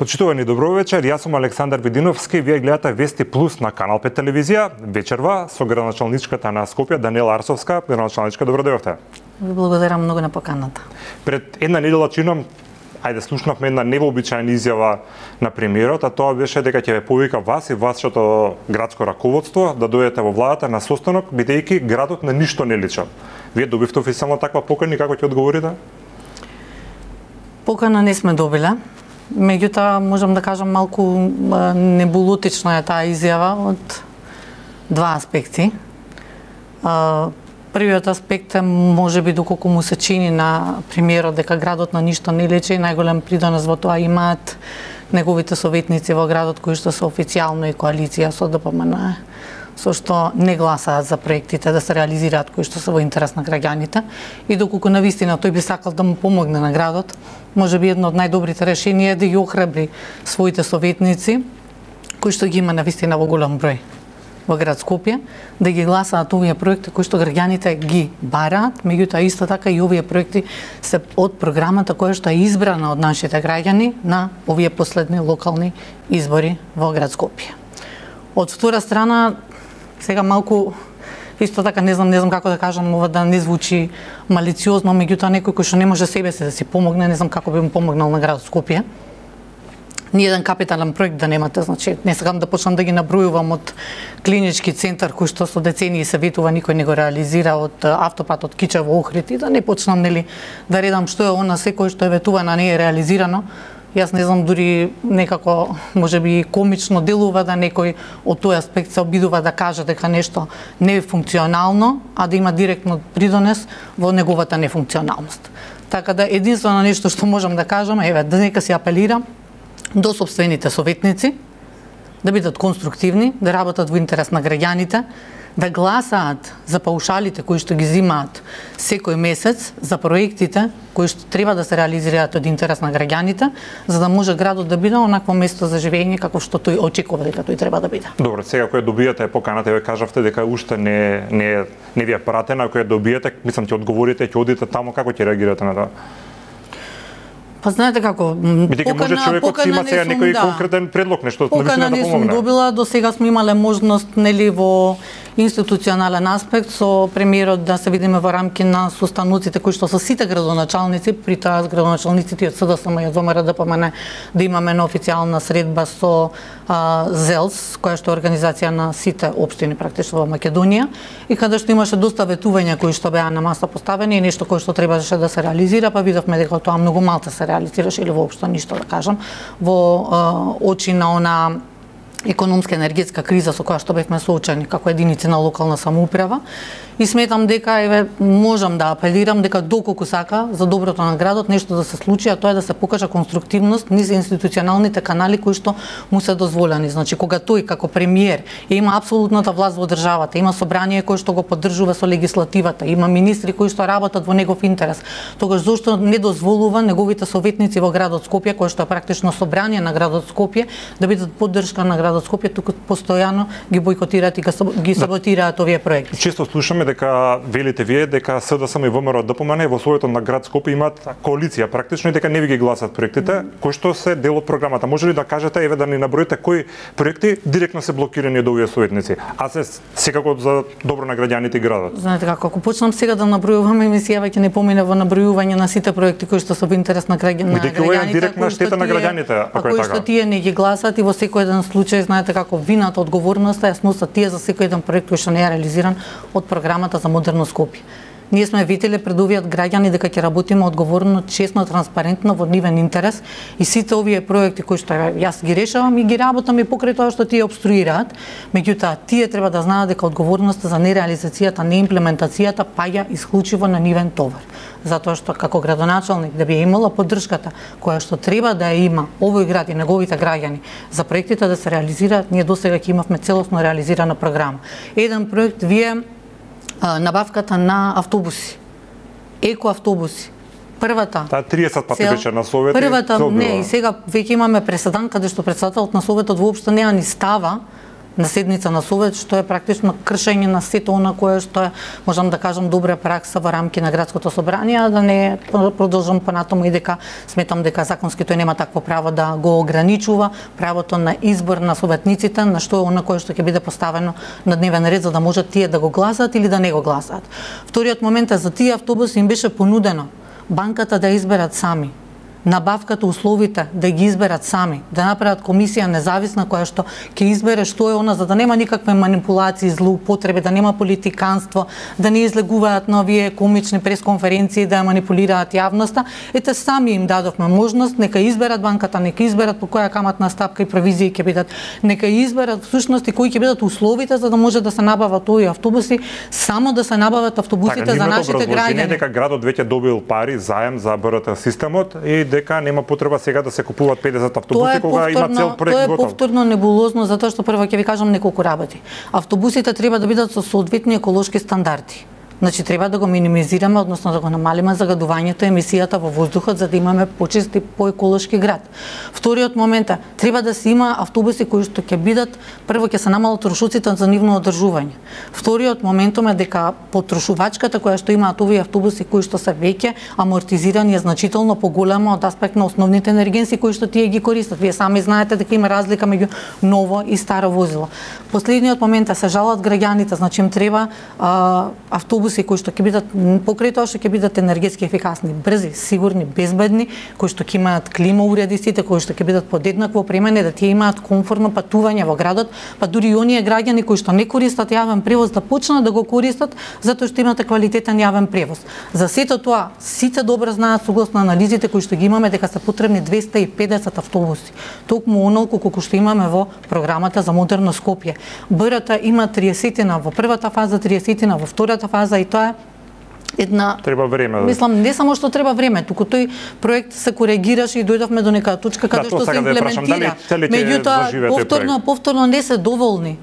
Почитувани, добро вечер. Јас сум Александар Видиновски. Вие гледате Вести Плюс на Канал 5 телевизија. Вечерва со градоначалничката на Скопје Даниела Арсовска. Градоначалничка, добро дојдовте. Ви благодарам многу на поканата. Пред една недела чином, слушнавме една невообичаена изјава на премиерот, а тоа беше дека ќе ве повика вас и вашето градско раководство да дојдете во владата на состанок, бидејќи градот на ништо не личи. Вие добивте официјално таква покана и како ќе одговорите? Покана не сме добиле. Меѓутоа, можам да кажам малку небулотична е таа изјава од два аспекти. Првиот аспект е можеби доколку му се чини на премиерот дека градот на ништо не лечи, најголем придонес во тоа имаат неговите советници во градот кои што се официјално и коалиција со ДПМН, со што не гласаат за проектите да се реализираат кои што се во интерес на граѓаните, и доколку навистина тој би сакал да му помогне на градот, можеби едно од најдобрите решенија е да ги охрабри своите советници кои што ги има навистина во голем број во град Скопје, да ги гласаат овие проекти кои што граѓаните ги бараат, меѓутоа исто така и овие проекти се од програмата која што е избрана од нашите граѓани на овие последни локални избори во град Скопје. Од втора страна, сега малку исто така не знам како да кажам, ова да не звучи малициозно, меѓутоа некој кој што не може себе се да си помогне, не знам како би му помогнал на град Скопје. Ни еден капитален проект да немате, значи не сакам да почнам да ги набројувам од клинички центар кој што со децении се ветува, никој не го реализира, од автопат од Кичево во Охрид, и да не почнам да редам што е она секој што е ветувано, не е реализирано. Јас не знам, дури некако можеби комично делува да некој од тој аспект се обидува да каже дека нешто не е функционално, а да има директно придонес во неговата нефункционалност. Така да единствено нешто што можам да кажам е да нека се апелира до сопствените советници да бидат конструктивни, да работат во интерес на граѓаните, да гласаат за паушалите кои што ги зимаат секој месец, за проектите кои што треба да се реализираат од интерес на граѓаните, за да може градот да биде онакво место за живење како што тој очекува дека тој треба да биде. Добро, сега која добијате поканата, ве кажавте дека уште не ви е пратена, која добијате, мислам ќе одговорите, ќе одите таму, како ќе реагирате на тоа? Па знаете како, бидејќи може човекот си има сега некој конкретен предлог, нешто навистина да помогне. Покана не сум добила, до сега сме имале можност во институционален аспект со премиерот да се видиме во рамки на состаноците кои што се сите градоначалници, при тоа градоначалниците од СДСМ и од ВМРО ДПМН, да имаме на официјална средба со ЗЕЛС, која што е организација на сите општини практично во Македонија, и каде што имаше доста ветувања кои што беа на маса поставени и нешто кое што требаше да се реализира, па видовме дека тоа многу малку се реализираше или воопшто ништо да кажам, во очи на она економска енергетска криза со која што бевме соочени како единици на локална самоуправа, и сметам дека можам да апелирам дека доколку сака за доброто на градот нешто да се случи, а тоа е да се покажа конструктивност низ институционалните канали кои што му се дозволени. Значи кога тој како премиер има апсолутната власт во државата, има собрание кое што го поддржува со легислативата, има министри кои што работат во негов интерес, тогаш зошто не дозволува неговите советници во градот Скопје, кој што е практично собрание на градот Скопје, да бидат поддршка на градот Скопје, туку постојано ги бойкотираат и ги саботираат овие проекти. Често слушаме дека велите вие дека СДСМ и ВМРО ДПМН во своето на град Скопје имаат коалиција практично и дека не ви ги гласат проектите кои што се дел од програмата. Може ли да кажете, да ни наброите кои проекти директно се блокирани од овие советници, а се секако за добро на граѓаните и градот? Знаете како, ако почнам сега да набројувам, емисијава ќе не помине во набројување на сите проекти кои што се во интерес на граѓаните. Бидејќи ова е директна штета на граѓаните, ако е така. Кои што тие не ги гласат и во секој еден случај, знаете како, вината, одговорноста ја сносат тие за секој еден проект кој што не е реализиран од програмата за модерно Скопје. Ние сме виделе пред овие граѓани дека ќе работиме одговорно, честно, транспарентно во нивен интерес, и сите овие проекти кои што јас ги решавам и ги работам и покрај тоа што тие обструираат, меѓутоа тие треба да знаат дека одговорноста за нереализацијата, неимплементацијата паѓа исклучиво на нивен товар. Затоа што како градоначалник да би имала поддршката која што треба да ја има овој град и неговите граѓани за проектите да се реализираат, ние досега ќе имавме целосно реализирана програма. Еден проект вие набавката на автобуси, еко автобуси. Првата 30 пати беше на Советот. Првата не, и сега веќе имаме преседан каде што председателот на Советот воопшто неа ни става на седница на совет, што е практично кршење на сето она кое што е, можам да кажам, добра пракса во рамки на градското собрание, да не продолжам понатаму и дека сметам дека законски тој нема такво право да го ограничува правото на избор на советниците, на што е она кое што ќе биде поставено на дневен ред за да можат тие да го гласаат или да не го гласаат. Вториот момент е за тие автобуси им беше понудено банката да изберат сами, набавката, условите да ги изберат сами, да направат комисија независна која што ќе избере што е она, за да нема никакви манипулации, злоупотреби, да нема политиканство, да не излегуваат на овие комични пресконференции, да ја манипулираат јавноста. Ете, сами им дадовме можност, нека изберат банката, нека изберат по која каматна стапка и провизии ќе бидат, нека изберат всушност и кои ќе бидат условите за да може да се набават овие автобуси, само да се набават автобусите за нашите граѓани. Дека градот веќе добил пари заем за БРТ системот и дека нема потреба сега да се купуваат 50 автобуси кога има цел проект готов. Тоа е повторно небулозно, затоа што прво ќе ви кажам неколку работи. Автобусите треба да бидат со соодветни еколошки стандарди. Значи треба да го минимизираме, односно да го намалиме загадувањето, емисијата во воздухот за да имаме почист и поеколошки град. Вториот момент е треба да се има автобуси кои што ќе бидат, прво ќе се намалат трошоците за нивно одржување. Вториот моментум е дека потрошувачката која што имаат овие автобуси кои што се веќе амортизирани е значително поголема од аспект на основните енергенси кои што тие ги користат. Вие сами знаете дека има разлика меѓу ново и старо возило. Последниот момент е се жалат граѓаните, значи им треба автобуси кои што ќе бидат покрај тоа што ќе бидат енергетски ефикасни, брзи, сигурни, безбедни, кои што ќе имаат клима уреди сите, кои што ќе бидат подеднакво опремени, да тие имаат комфортно патување во градот, па дури и оние граѓани кои што не користат јавен превоз да почнат да го користат затоа што имате квалитетен јавен превоз. За сето тоа сите добро знаат согласно анализите кои што ги имаме дека се потребни 250 автобуси. Токму онолку колку што имаме во програмата за модерно Скопје. БРТ има 30 во првата фаза, 30 во втората фаза и тоа е една треба време. Мислам не само што треба време, туку тој проект се коригираше и дојдовме до нека точка каде што се имплементира. Меѓутоа повторно не се доволни.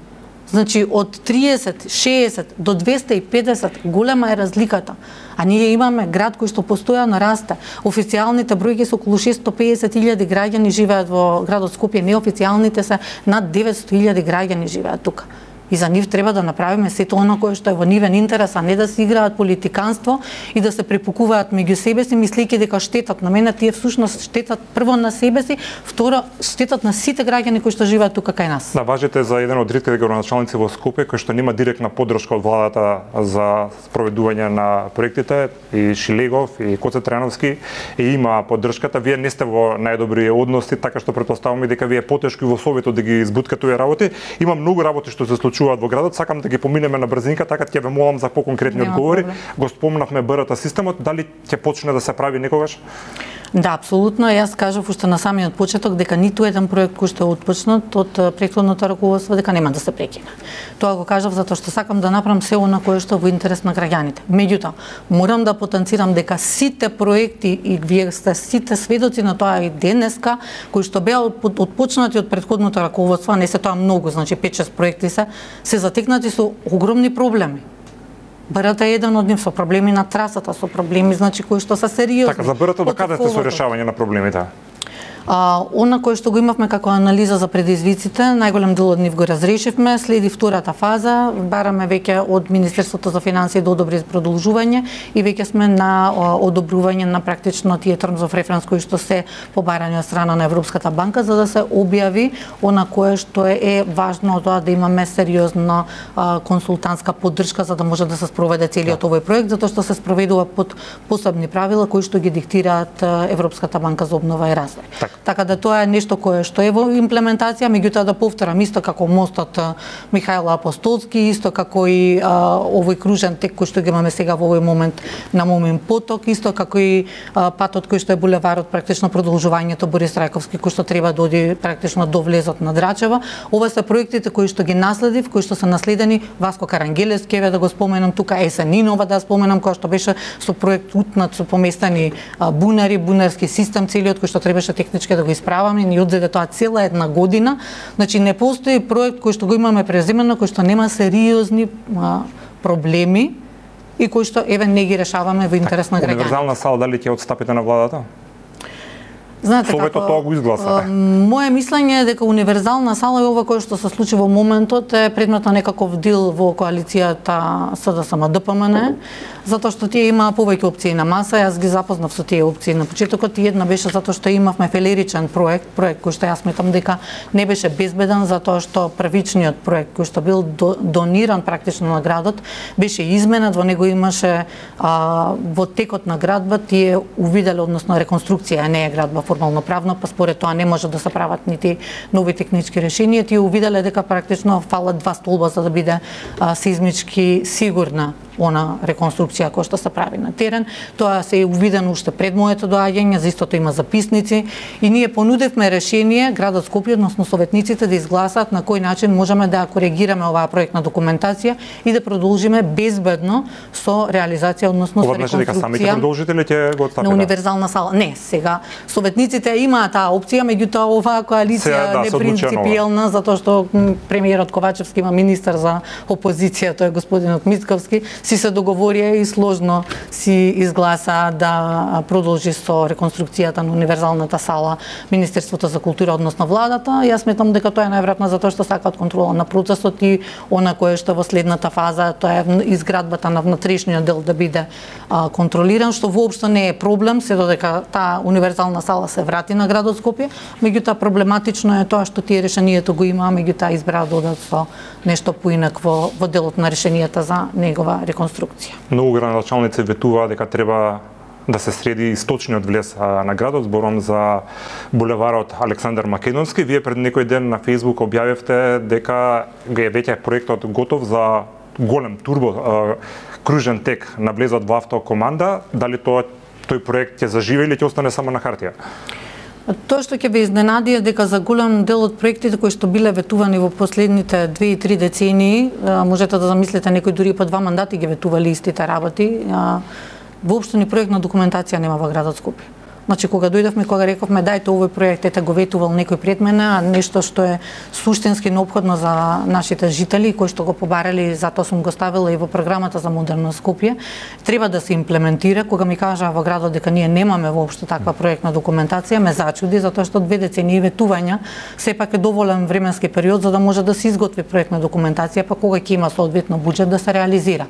Значи од 30, 60 до 250 голема е разликата. А ние имаме град кој што постојано расте. Официјалните бројки се околу 650.000 граѓани живеат во градот Скопје, неофицијалните се над 900.000 граѓани живеат тука. И за нив треба да направиме сето оно кое што е во нивен интерес, а не да се играат политиканство и да се препукуваат меѓу себе си, мислејќи дека штетат. На мене тие всушност штетат прво на себе си, второ штетат на сите граѓани кои што живеат тука кај нас. Да, важите за еден од ретките градоначалници во Скопје кој што нема директна поддршка од владата за спроведување на проектите, и Шилегов и Коце Трајановски и има поддршката. Вие не сте во најдобри односи, така што претпоставуваме дека ви е потешко и во советот да ги избуткате овие работи. Има многу работи што се случуваат во градот, сакам да ги поминеме на брзинка, така ќе ве молам за поконкретни одговори. Го спомнавме БРТ системот, дали ќе почне да се прави некогаш? Да, апсолутно. Јас кажав уште на самиот почеток дека ниту еден проект кој што е отпочнат од претходното раководство дека нема да се прекине. Тоа го кажав затоа што сакам да направам се она кое што во интерес на граѓаните. Меѓутоа, морам да потенцирам дека сите проекти и вие сте сите сведоци на тоа и денеска кои што беа отпочнати од претходното раководство, не се тоа многу, значи 5-6 проекти се затекнати со огромни проблеми. БРТ е еден од нив, со проблеми на трасата, со проблеми значи кои што се сериозни. Така, за БРТ докаде сте со решавање на проблемите? Она кој што го имавме како анализа за предизвиците, најголем дел од нив го разрешивме, следи втората фаза, бараме веќе од Министерството за финансии да одобри продолжување и веќе сме на одобрување на практично тие terms of reference кои што се побарани од страна на Европската банка за да се објави она кое што е важно тоа да имаме сериозна консултантска поддршка за да може да се спроведе целиот овој проект, затоа што се спроведува под посебни правила кои што ги диктираат Европската банка за обнова и развој. Така да тоа е нешто кое што е во имплементација, меѓутоа да повторам исто како мостот Михајло Апостолски, исто како и овој кружен тек кој што го имаме сега во овој момент на Момин поток, исто како и патот кој што е булеварот, практично продолжувањето Борис Трајковски кој што треба да оди практично до влезот на Драчева. Ова се проектите кои што ги наследив, кои што се наследени, Васко Карангелевски, еве да го споменам тука, Есенинова да споменам, која што беше со проект утнат со поместени бунари, бунарски систем целиот кој што требаше технички да го исправаме, ни одзеде тоа цела една година. Значи не постои проект кој што го имаме преземено, кој што нема сериозни проблеми и кој што еве не ги решаваме во интерес на граѓаните. Универзална сала дали ќе отстапите на владата? Знаете Советот тоа го изгласа. Моje мислење е дека универзална сала и ова кое што се случи во моментот е предмет на некаков дил во коалицијата СДСМ ДПМН, затоа што тие имаа повеќе опции на маса, јас ги запознав со тие опции на почетокот и една беше затоа што имавме фелеричен проект кој што јас сметам дека не беше безбеден затоа што првичниот проект кој што бил дониран практично на градот беше изменет, во него имаше во текот на градба тие увиделе, односно реконструкција, не е градба формално правно, па според тоа не може да се прават нити нови технички решенија, тие увиделе дека практично фалат 2 столба за да биде сеизмички сигурна она реконструкција која што се прави на терен. Тоа се е увидено уште пред моето доаѓање, за истото има записници и ние понудевме решение градот Скопје, односно советниците да изгласат на кој начин можеме да коригираме оваа проектна документација и да продолжиме безбедно со реализација, односно со реконструкција. Дека самите продолжители ќе го отстапат. На универзална сала. Не, сега советниците имаат таа опција, меѓутоа оваа коалиција не принципиелна затоа што премиерот Ковачевски има министер за опозиција, тој е господинот Мицковски, си се договорија и сложно си изгласа да продолжи со реконструкцијата на универзалната сала Министерството за култура, односно владата. Јас сметам дека тоа е најверојатно затоа што сакаат контрола на процесот и она кое што во следната фаза, тоа е изградбата на внатрешниот дел да биде контролиран, што воопшто не е проблем, се додека таа универзална сала се врати на градот Скопје, меѓутоа проблематично е тоа што тие решението го има, меѓутоа избраа да одат со нешто поинакво во делот на решенијата за негова реконструкција. Многу градоначалници ветуваа дека треба да се среди источниот влез на градот, зборам за булеварот Александар Македонски. Вие пред некој ден на Facebook објавивте дека веќе проектот готов за голем турбо кружен тек на влезот во автокоманда. Дали тој проект ќе заживее или ќе остане само на хартија? Тоа што ќе ве изненади е дека за голем дел од проектите кои што биле ветувани во последните 2 и 3 децении, можете да замислите некои дури по 2 мандати ги ветували истите работи, воопшто ни проектна документација нема во градот Скопје. Значи, кога дојдовме, кога рековме дајте овој проект, ете го ветувал некој пред мене, а нешто што е суштински неопходно за нашите жители, кои што го побарали, затоа сум го ставила и во програмата за модерно Скопје, треба да се имплементира. Кога ми кажа во градот дека ние немаме воопшто таква проектна документација, ме зачуди, затоа што 2 децении ветувања сепак е доволен временски период за да може да се изготви проектна документација, па кога ќе има соодветно буџет да се реализира.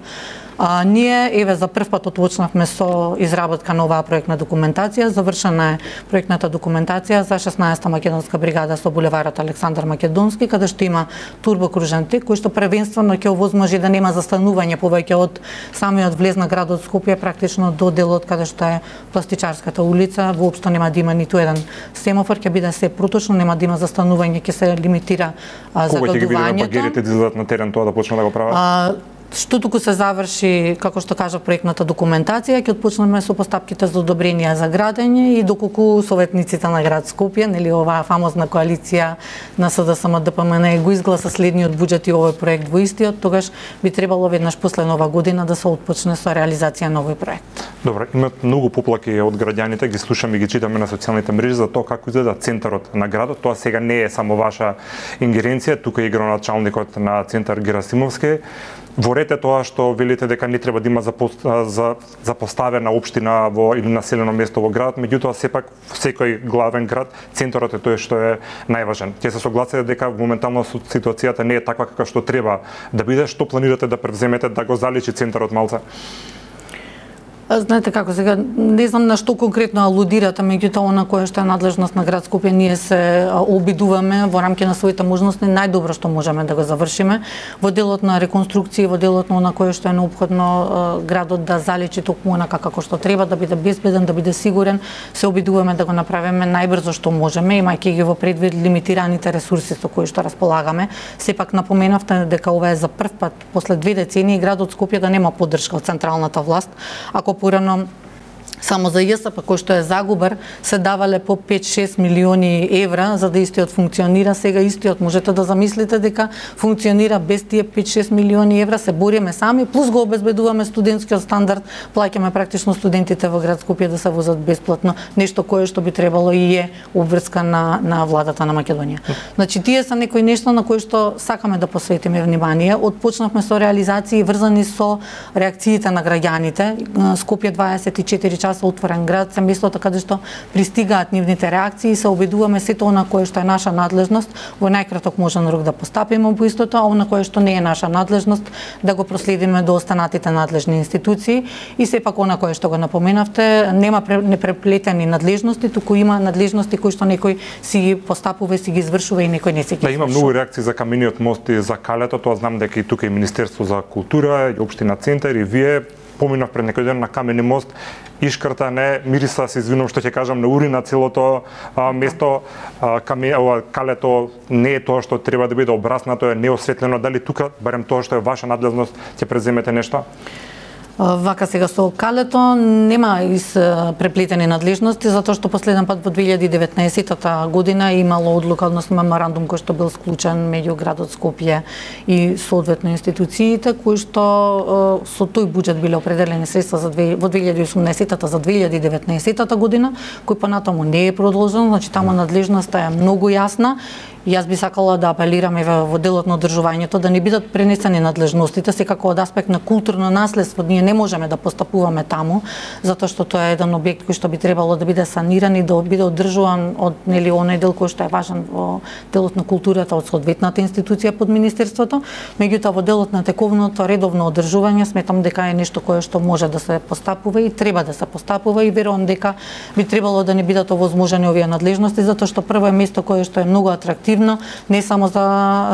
Ние, еве, за прв пат отвочнавме со изработка на оваа проектна документација. Завршена е проектната документација за 16-та македонска бригада со булеварот Александар Македонски, каде што има турбокружен тек, кој што првенствено ќе овозможи да нема застанување повеќе од самиот влез на градот Скопје, практично до делот каде што е Пластичарската улица. Воопшто нема да има ниту еден семафор, ќе биде се проточно, нема да има застанување, ќе се лимитира загадувањето. Кога ќе ги видиме багерите да излезат на терен тоа да почнат да го прават? Што туку се заврши, како што кажа, проектната документација, ќе отпочнеме со постапките за одобрение за градење и доколку советниците на град Скопје, нели оваа фамозна коалиција на СДСМ ДПМН го изгласа следниот буџет и овој проект во истиот, тогаш би требало веднаш после нова година да се отпочне со реализација на овој проект. Добро, имат многу поплаки од граѓаните, ги слушаме и ги читаме на социјалните мрежи за тоа како изгледа центарот на градот. Тоа сега не е само ваша ингеренција, тука е градоначалникот на центар Герасимовски. Ворете тоа што велите дека не треба да има запоставена општина во или населено место во градот, меѓутоа сепак секој главен град центарот е тој што е најважен. Ќе се согласите дека моментално ситуацијата не е таква каква што треба да биде, што планирате да превземете да го заличи центарот малце? Знаете како, сега не знам на што конкретно алудирате, меѓутоа она кое што е надлежност на град Скопје, ние се обидуваме во рамки на своите можности најдобро што можеме да го завршиме во делот на реконструкција, во делот на она кое што е неопходно градот да заличи токму онака како што треба, да биде безбеден, да биде сигурен. Се обидуваме да го направиме најбрзо што можеме, имајќи ги во предвид лимитираните ресурси со кои што располагаме. Сепак напоменавте дека ова е за прв пат после 2 децении градот Скопје да нема поддршка од централната власт. Ако порано само за ЈСП кој што е загубар се давале по 5-6 милиони евра за да истиот функционира. Сега истиот можете да замислите дека функционира без тие 5-6 милиони евра, се бориме сами, плюс го обезбедуваме студентскиот стандард, плаќаме практично студентите во град Скопје да се возат бесплатно, нешто кое што би требало и е обврска на владата на Македонија. Значи тие се некои нешто на кои што сакаме да посветиме внимание. Отпочнавме со реализации врзани со реакциите на граѓаните. Скопје 24 часа таа се отворен град, се местото каде што пристигаат нивните реакции и се обидуваме сето она кое што е наша надлежност во најкраток можен рок да постапиме по истото, а она кое што не е наша надлежност да го проследиме до останатите надлежни институции и сепак она кое што го напоменавте, нема непреплетени надлежности, туку има надлежности кои што некој си ги постапува, си ги извршува и некој не си ги извршува. Има многу реакции за камениот мост и за Калето, тоа знам дека и тука и Министерство за култура, и Општина Центар и вие поминав пред некој ден на камени мост, ишкрта не мириса, се извинувам што ќе кажам, на урина целото место, Калето не е тоа што треба да биде обраснато, е неосветлено, дали тука барем тоа што е ваша надлежност ќе преземете нешто? Вака сега со Калето нема преплетени надлежности, затоа што последен пат во 2019 година имало одлука, односно меморандум кој што бил склучен меѓу градот Скопје и соодветно институциите, кои што со тој буџет биле определени средства во 2018 за 2019 година, кој понатаму не е продолжен, значи таму надлежноста е многу јасна. Јас би сакала да апелирам во делот на одржувањето да не бидат пренесени надлежностите, секако од аспект на културно наследство ние не можеме да постапуваме таму, затоа што тоа е еден објект кој што би требало да биде саниран и да биде одржуван од оној дел кој што е важен во делот на културата од соодветната институција под министерството. Меѓутоа во делот на тековното редовно одржување сметам дека е нешто кое што може да се постапува и треба да се постапува и верувам дека би требало да не бидат овозможени овие надлежности, затоа што прво е место кое што е многу атрактивно, не само за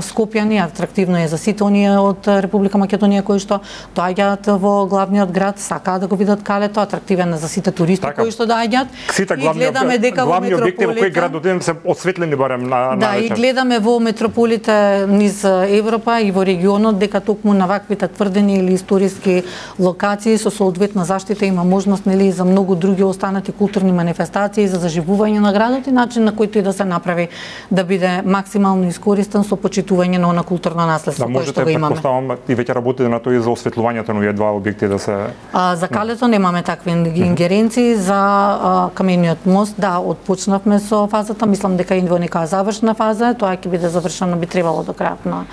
Скопјани, атрактивно е за сите оние од Република Македонија кои што доаѓаат во главниот град, сакаат да го видат Калето, атрактивен е за сите туристи кои што доаѓаат. И гледаме дека главни објекти во кој град одидем се осветлени барем на да, и гледаме во метрополите низ Европа и во регионот дека токму на ваквите тврдени или историски локации со соодветна заштита има можност нели за многу други останати културни манифестации за заживување на градот и начин на кој тој да се направи да биде максимално искористен со почитување на она културно наследство кое што го имаме. Предпоставам и веќе работите на тоа и за осветлувањето на овие два објекти да се за Калето немаме такви ингеренции, за камениот мост да отпочнавме со фазата, мислам дека и во нека завршна фаза, тоа ќе биде завршено би требало до крајот на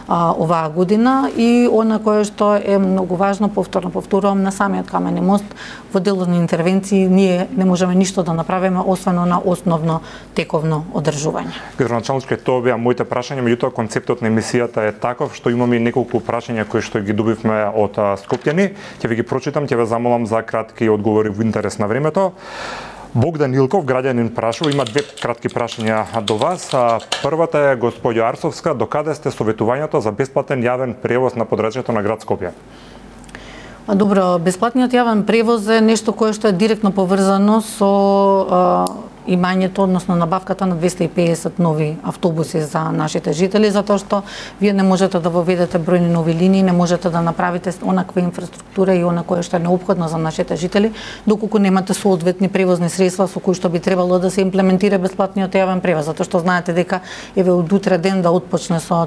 оваа година и она кое што е многу важно, повторувам на самиот камени мост, во делот на интервенции ние не можеме ништо да направиме освен на основно тековно одржување. Градоначалничке, тоа беа моите прашања, меѓутоа концептот на емисијата е таков што имаме неколку прашања кои што ги добивме од скопјани. Ќе ви ги прочитам, ќе ве замолам за кратки одговори во интерес на времето. Богдан Илков, граѓанин, прашува, има две кратки прашања до вас. Првата е господја Арсовска, докаде сте советувањето за бесплатен јавен превоз на подрачјето на град Скопје? Добро, бесплатниот јавен превоз е нешто кое што е директно поврзано со имањето, односно набавката на 250 нови автобуси за нашите жители, затоа што вие не можете да воведете бројни нови линии, не можете да направите онаква инфраструктура и она кое што е неопходно за нашите жители, доколку немате соодветни превозни средства со кои што би требало да се имплементира бесплатниот јавен превоз, затоа што знаете дека еве од утре ден да отпочне со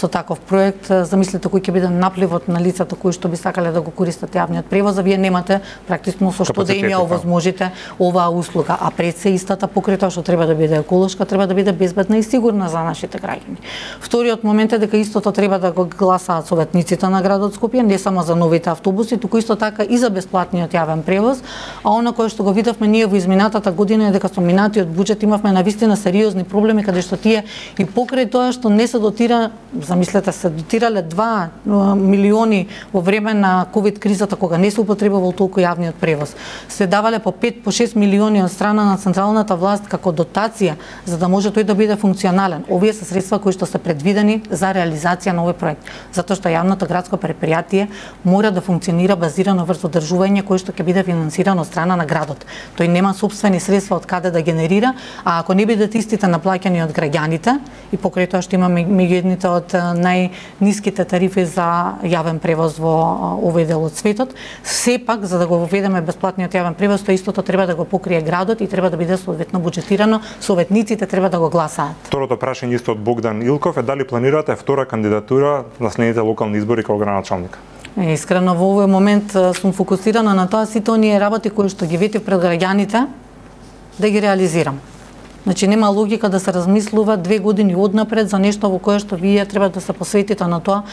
таков проект, замислете кој ќе биде напливот на лицата кои што би сакале да го користат јавниот превоз, а вие немате практично со што да им ја овозможите оваа услуга, а пред се истата покрај тоа што треба да биде еколошка, треба да биде безбедна и сигурна за нашите граѓани. Вториот момент е дека истото треба да го гласаат советниците на градот Скопје, не само за новите автобуси, туку исто така и за бесплатниот јавен превоз, а она кое што го видовме ние во изминатата година е дека со минатиот буџет имавме навистина сериозни проблеми каде што тие и покрај тоа што не се дотира, замислете се дотирале 2 милиони во време на ковид кризата кога не се употребувал толку јавниот превоз. Се давале по 5 по 6 милиони од страна на централната власт како дотација за да може тој да биде функционален. Овие се средства кои што се предвидени за реализација на овој проект, затоа што јавното градско предпријатие мора да функционира базирано врз одржување кое што ќе биде финансирано од страна на градот. Тој нема сопствени средства од каде да генерира, а ако не бидат истите наплаќани од граѓаните и покрај тоа што имаме меѓу едните од најниските тарифи за јавен превоз во овој дел од светот, сепак за да го воведеме бесплатниот јавен превоз, тоа истото треба да го покрие градот и треба да биде соодветно буџетирано, советниците треба да го гласаат. Второто прашање исто од Богдан Илков е дали планирате втора кандидатура на следните локални избори како градоначалник? Искрено во овој момент сум фокусирана на тоа сите оние работи кои што ги ветив пред граѓаните да ги реализирам. Значи нема логика да се размислува 2 години однапред за нешто во кое што вие треба да се посветите на тоа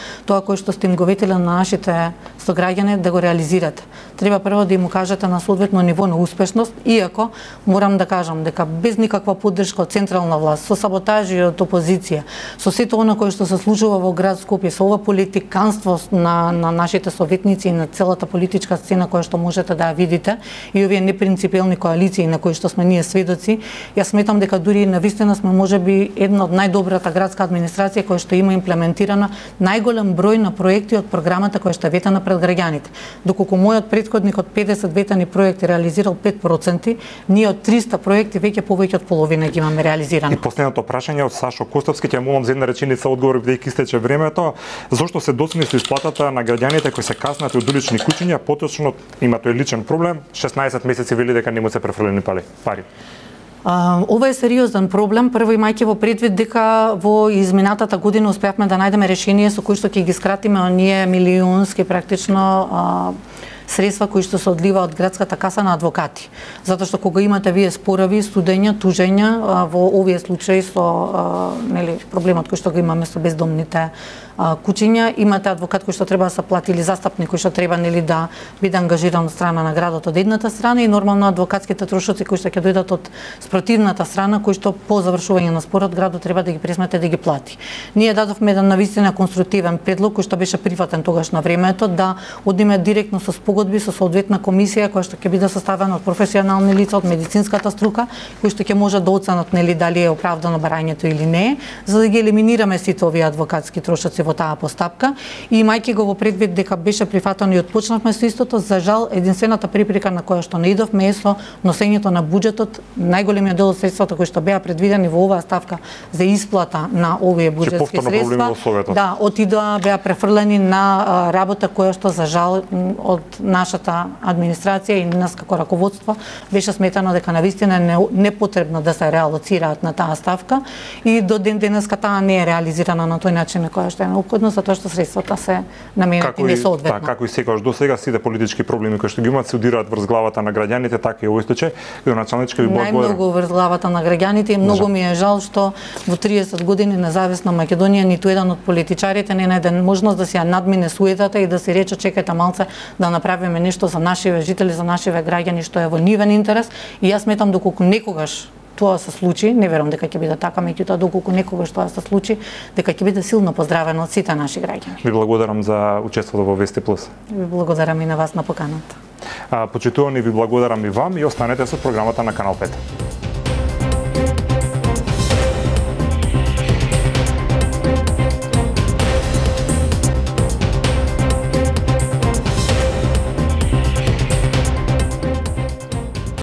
кое што сте им го ветиле на нашите сограѓани да го реализирате. Треба прво да им кажете на соодветно ниво на успешност, иако морам да кажам дека без никаква поддршка од централна власт, со саботажи од опозиција, со сето она кое што се случува во град Скопје, со ова политиканство на нашите советници и на целата политичка сцена која што можете да ја видите и овие непринципелни коалиции на кои што сме ние сведоци, јас сметам дека дури навистина сме можеби една од најдобрата градска администрација која што има имплементирана најголем број на проекти од програмата која што е ветена пред граѓаните. Доколку мојот претходник од 50 ветени проекти реализирал 5%, ние од 300 проекти веќе повеќе од половина ги имаме реализирано. И последното прашање од Сашо Костовски, ќе молам за една реченица одговор бидејќи истече времето. Зошто се досмисли исплатата на граѓаните кои се каснат од улични куќиња, поточно има тој личен проблем, 16 месеци вели дека не му се префрлени пари. Ова е сериозен проблем, прво имајќи во предвид дека во изминатата година успеавме да најдеме решение со кои што ќе ги скратиме оние милионски практично средства кои што се одливаат од градската каса на адвокати. Затоа што кога имате вие спорови, судења, тужења во овие случаи со проблемот кој што го имаме со бездомните куќиња, имате адвокат кој што треба да се плати или застапник кој што треба да биде ангажиран од страна на градот од едната страна и нормално адвокатските трошоци кои што ќе дојдат од спротивната страна кои што по завршување на спорот градот треба да ги пресмете да ги плати. Ние дадовме еден навистина конструктивен предлог кој што беше прифатен тогаш на времето да одиме директно со спогодби со соодветна комисија која што ќе биде составена од професионални лица од медицинската струка кои што ќе можат да оценат дали е оправдано барањето или не, за да ги елиминираме сите овие адвокатски трошоци во таа постапка и имајќи го во предвид дека беше прифатено и отпочнавме со истото, за жал единствената препрека на која што не идовме е со носењето на буџетот, најголемиот дел од средствата кои што беа предвидени во оваа ставка за исплата на овие буџетски средства, да, отидоа беа префрлени на работа која што за жал од нашата администрација и нас како раководство беше сметано дека навистина е непотребно да се реалоцираат на таа ставка и до ден денеска таа не е реализирана на тој начин на која што е неопходно, затоа што средствата се наменети несоодветно. Како и секогаш досега сите политички проблеми кои што ги имаат се удираат врз главата на граѓаните, така и овој случај. Градоначалничка ви благодарам. Најмногу врз главата на граѓаните и многу ми е жал што во 30 години независна Македонија ниту еден од политичарите не најде можност да се ја надмине суетата и да се рече чекајте малце да направиме нешто за нашиве жители, за нашиве граѓани што е во нивен интерес и јас сметам доколку некогаш тоа се случи, не верувам дека ќе биде така, меѓутоа доколку некогаш тоа се случи, дека ќе биде силно поздравено од сите наши граѓани. Ви благодарам за учеството во Вести Плюс. Ви благодарам и на вас на поканата. Почитувани, ви благодарам и вам и останете со програмата на Канал 5.